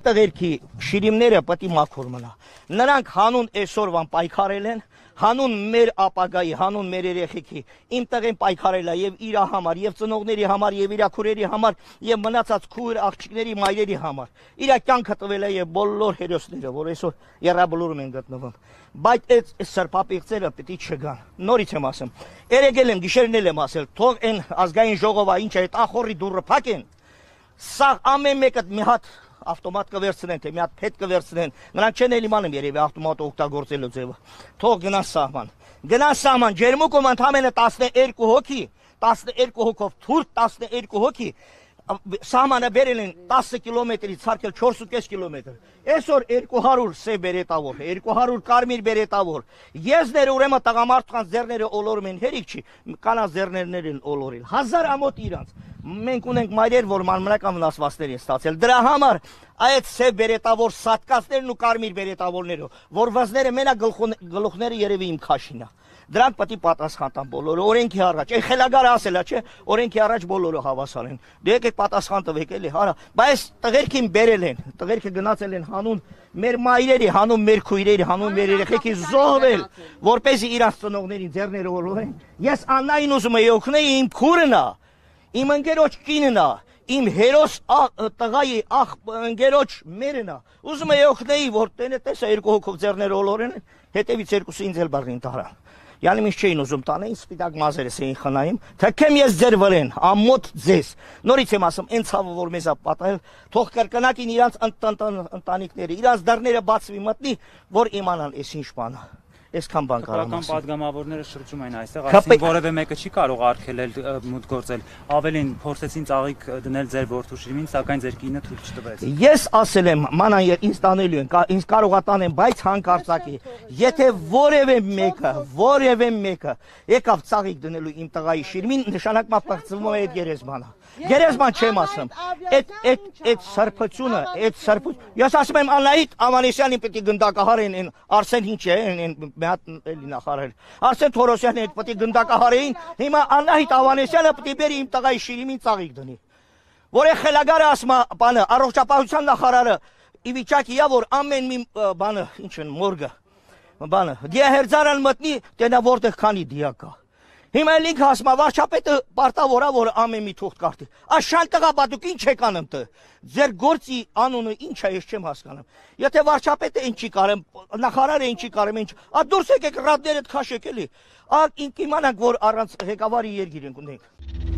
Տղերքի շիրիմները պետք է մաքուր մնա։ Նրանք հանուն այսօրվան պայքարել են, հանուն մեր ապագայի, հանուն մեր երեխեքի, իմ տղեն պայքարել է եւ իր համար, եւ ծնողների համար, եւ իր քուրերի համար, եւ մնացած քույր աղջիկների մայրերի համար։ Իր կյանքը տվել է եւ բոլոր հերոսները, որ այսօր երաբլուրում են գտնվում։ Բայց այդ սրբապիղծերը պետք է չգան։ Նորից եմ ասում։ Երեգել եմ, գիշերնել եմ ասել, թող այն ազգային ժողովը ինչ է, ախորի դուրը փակեն։ Սա ամեն մեկը մի հատ ավտոմատ կվերցնեն, թե մի հատ փետ կվերցնեն։ Նրանք չեն էլ իմանում երևի ավտոմատը օգտագործելու ձևը։ Թող գնան սահման։ Գնան սահման, ջերմուկում ընդամենը 12 հոգի, 12 հոգով թուրք, 12 հոգի սահմանը բերել են 10 կիլոմետրից ցարկել 4.5 կիլոմետր։ Այսօր 200 սև բերետավոր, 200 կարմիր բերետավոր։ Եզները ուրեմն տղամարդկանց ձեռները ոլորում են, հերիք չի, կանանց ձեռներն են ոլորել։ 1000 ամոթ իրանց։ Մենք ունենք մայրեր, որ մանրական վնասվածքներ են ստացել։ Դրա համար այդ սև բերետավոր սատկածներն ու կարմիր բերետավորները, որ վզները մենակ գլուխները երևի իմ քաշինա։ Դրանք պետք է պատասխան տան բոլորը, օրենքի առաջ։ Այն խելագարը ասել է, չէ, օրենքի առաջ բոլորը հավասար են։ Դե եկեք պատասխան տվեք էլի, հարա։ Բայց տղերքին բերել են, տղերքը գնացել են հանուն մեր մայրերի, հանուն մեր քույրերի, հանուն մեր երեխեքի զոհվել, որպեսզի իրանց ծնողներին ձեռները ոլորեն։ Ես Աննային ուզում եի օգնել, իմ քուրն է, իմ ընկերոջ կինն է, իմ հերոս տղայի ընկերոջ մերն է։ Ուզում եի օգնել, որ տեսա երկու հոգով ձեռները ոլորեն, հետևից երկուսը ինձ էլ բռնին տարան։ Յանի ինչ չէին ուզում տանեին, սպիտակ մազերս էին խնայում, թքեմ ես ձեր վրեն, ամոթ ձեզ։ Նորից եմ ասում, այն ցավը, որ մեզ է պատահել, թող կրկնակին իրանց ընտանիքները, իրանց դռները բացվի մտնի, որ իմանան այս ինչ բան է։ Այսքան բան կարող եմ ասել։ Պատգամավորները շրջում են այստեղ, ասին որևէ մեկը չի կարող արգելել մուտք գործել։ Ավելին փորձեցին ծաղիկ դնել ձեր որդու շիրիմին, սակայն ձեր կինը թույլ չտվեց։ Ես ասել եմ, մանան ինձ տանելու են, ինձ կարող է տանեն, բայց հանկարծակի, եթե որևէ մեկը եկավ ծաղիկ դնելու իմ տղայի շիրիմին, նշանակմա պղծվում է այդ գերեզմանը։ Գերեզման չեմ ասում։ Այդ սրբությունը, ես ասում եմ Անահիտ Ավանեսյանին պետք է գնդակահարեն, Արսեն ինչ է, մի հատ էլի նախարարել։ Արսեն Թորոսյանին պետք է գնդակահարեին, հիմա Անահիտ Ավանեսյանը պետք է բերի իմ տղայի շիրիմին ծաղիկ դնի։ Որ է խելագարը ասում է, բանը, առողջապահության նախարարը ի վիճակի է, որ ամեն մի բանը, ինչ են, մորգը, բանը, դիահերձարան մտնի, տենա որտեղ քանի դիա կա։ Հիմա էլ ինքը ասում է, վարչապետը պարտավոր է, որ ամեն մի թուղթ կարտի։ Աշան տղաբադուկ ինչ եք անում տը։ Ձեր գործի անունը ինչ է, ես չեմ հասկանում։ Եթե վարչապետը ինչ չի կարեմ, նախարարը ինչ չի կարեմ, ինչ, դուրս եկեք ռադներդ քաշեք էլի։ Ինք իմանանք, որ առանց ղեկավարի երգիր ենք ունենք։